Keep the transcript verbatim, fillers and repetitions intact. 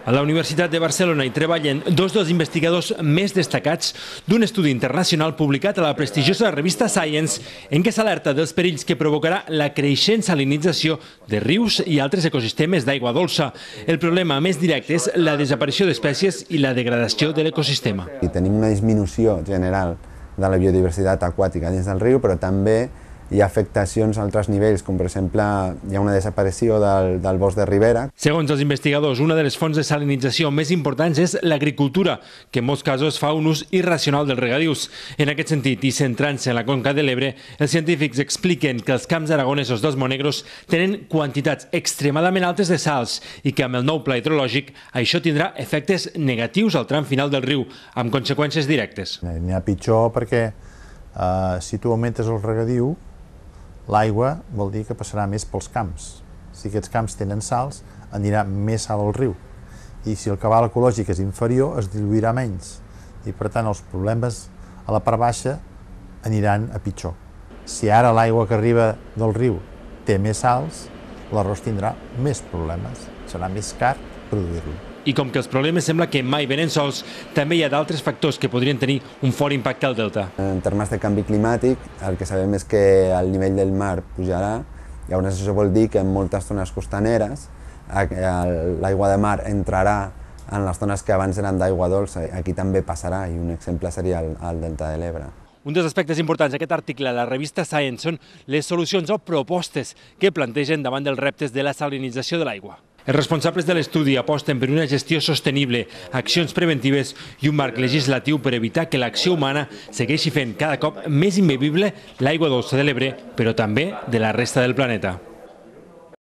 A la Universitat de Barcelona hi treballen dos dels investigadors més destacats d'un estudi internacional publicat a la prestigiosa revista Science, en què s'alerta dels perills que provocarà la creixent salinització de rius i altres ecosistemes d'aigua dolça. El problema més directe és la desaparició d'espècies i la degradació de l'ecosistema. Tenim una disminució general de la biodiversitat aquàtica dins del riu, però també hi ha afectacions a altres nivells, com per exemple hi ha una desaparició del, del bosc de ribera. Segons els investigadors, una de les fonts de salinització més importants és l'agricultura, que en molts casos fa un ús irracional dels regadius. En aquest sentit, i centrant-se en la conca de l'Ebre, els científics expliquen que els camps aragonesos dels Monegros tenen quantitats extremadament altes de sals i que amb el nou pla hidrològic això tindrà efectes negatius al tram final del riu, amb conseqüències directes. N'hi ha pitjor perquè eh, si tu augmentes el regadiu, l'aigua vol dir que passarà més pels camps. Si aquests camps tenen sals, anirà més sal al riu. I si el cabal ecològic és inferior, es diluirà menys. I per tant els problemes a la part baixa aniran a pitjor. Si ara l'aigua que arriba del riu té més sals, l'arròs tindrà més problemes. Serà més car produir-lo. I com que els problemes sembla que mai venen sols, també hi ha d'altres factors que podrien tenir un fort impacte al delta. En termes de canvi climàtic, el que sabem és que el nivell del mar pujarà. Llavors això vol dir que en moltes zones costaneres l'aigua de mar entrarà en les zones que abans eren d'aigua dolça. Aquí també passarà, i un exemple seria el, el delta de l'Ebre. Un dels aspectes importants d'aquest article a la revista Science són les solucions o propostes que plantegen davant dels reptes de la salinització de l'aigua. Els responsables de l'estudi aposten per una gestió sostenible, accions preventives i un marc legislatiu per evitar que l'acció humana segueixi fent cada cop més imbevible l'aigua dolça de l'Ebre, però també de la resta del planeta.